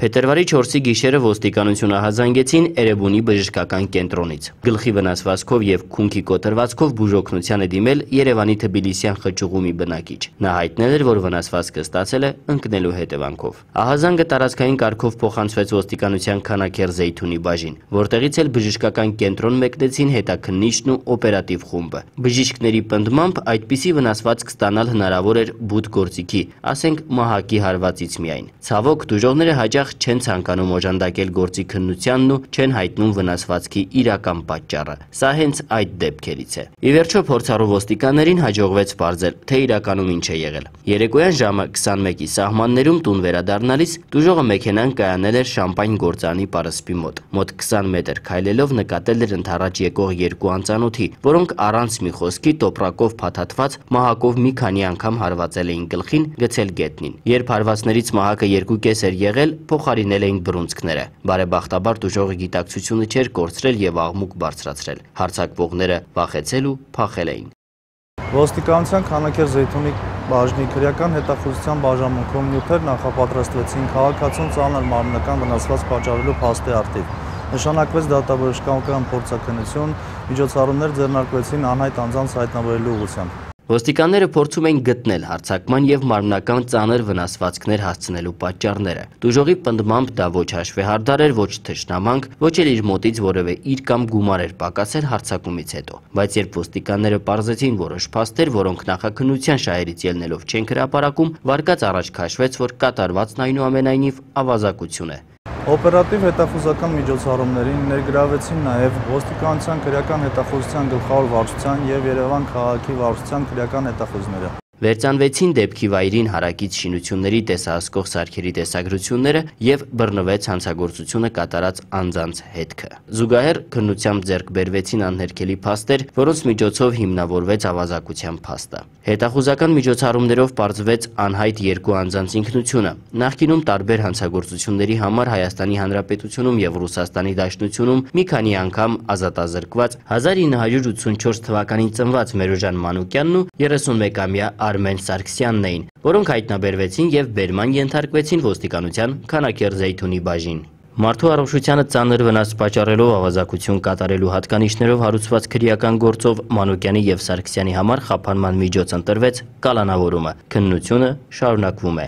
Փետրվարի 4-ի գիշերը ոստիկանությունը ահազանգեցին Էրեբունի բժշկական կենտրոնից։ Գլխի վնասվածքով եւ քունքի կոտրվածքով բուժօգնության է դիմել Երևանի Թբիլիսյան խճուղումի բնակիչ։ Նա հայտնել էր, որ վնասվածքը ստացել է ընկնելու հետևանքով։ Ահազանգը տարածքային կարգով փոխանցվեց ոստիկանության Քանաքեռ Զեյթունի բաժին, որտեղից էլ բժշկական կենտրոն մեկնեցին հետաքննիչն ու օպերատիվ խումբը։ Բժիշկների պնդմամբ այդպիսի վնասվածք ստանալ հնարավոր էր բութ գործիքի, ասենք մահակի հարվածից միայն։ Ցավոք, դժողները հաճախ չեն ցանկանում օժանդակել գործի քննությանն ու չեն հայտնում վնասվածքի իրական պատճառը։ Սա հենց այդ դեպքերից է։ Ի վերջո փորձառու ոստիկաններին հաջողվեց պարզել, թե իրականում ինչ է եղել։ Երեկոյան ժամը 21-ի սահմաններում տուն վերադառնալիս դժողը մեքենան կայանել էր շամպայն գործանի պարսպի մոտ։ Մոտ 20 մետր քայլելով նկատել էր ընդառաջ եկող երկու անծանոթի, որոնք առանց մի խոսքի տոպրակով փաթաթված մահակով մի քանի անգամ հարվածել էին գլխին, գցել գետնին։ Երբ հարվածներից մահակը երկու կես էր եղել, փոխարինել էին բռունցքները։ Բարեբախտաբար դժողը գիտակցությունը չէր կորցրել եւ աղմուկ բարձրացրել։ Հարձակվողները վախեցել ու փախել էին։ Ոստիկանության Քանաքեռ Զեյթունի բաժնի քրեական հետախուզության բաժանմունքում նյութեր նախապատրաստվեցին քաղաքացուն ծանր մարմնական վնասված պատճառելու փաստի առթիվ։ Նշանակվեց դատաբժշկական փորձաքննություն, միջոցառումներ ձեռնարկվեցին անհայտ անձանց հայտնաբերելու ուղղությամբ։ Ոստիկանները փորձում են գտնել հարձակման եւ մարմնական ծանր վնասվածքներ հասցնելու պատճառները։ Դժողի պնդմամբ դա ոչ հաշվեհարդար էր, ոչ թշնամանք, ոչ էլ իր մոտից որևէ իր կամ գումար էր պակասել հարձակումից հետո։ Բայց երբ ոստիկանները պարզեցին որոշ փաստեր, որոնք նախաքննության շահերից ելնելով չեն հրապարակում, վարկած առաջ քաշվեց, որ կատարվածն այնուամենայնիվ ավազակություն է։ Օպերատիվ հետախուզական միջոցառումներին ներգրավեցին նաև ոստիկանության քրեական հետախուզության գլխավոր վարչության եւ Երևան քաղաքի վարչության քրեական հետախուզները։ Վերցանվեցին դեպքի վայրին հարակից շինությունների տեսահսկող սարքերի տեսագրությունները եւ բռնվեց հանցագործությունը կատարած անձանց հետքը։ Զուգահեռ քննությամբ ձեռք բերվեցին անհերքելի փաստեր, որոնց միջոցով հիմնավորվեց ավազակության փաստը։ Հետախուզական միջոցառումներով պարզվեց անհայտ երկու անձանց ինքնությունը։ Նախկինում տարբեր հանցագործությունների համար Հայաստանի Հանրապետությունում եւ Ռուսաստանի Դաշնությունում մի քանի անգամ ազատազրկված 1984 թվականին ծնված Մերոժան Մանուկյանն ու 31-ամյա Արմեն Սարգսյանն էին, որոնք հայտնաբերվեցին եւ բերման ենթարկվեցին ոստիկանության Քանաքեռ Զեյթունի բաժին։ Մարդու առողջությանը ծանր վնաս պատճառելով ավազակություն կատարելու հատկանիշներով հարուցված քրեական գործով Մանուկյանի եւ Սարգսյանի համար խափանման միջոց ընտրվեց կալանավորումը։ Քննությունը շարունակվում է։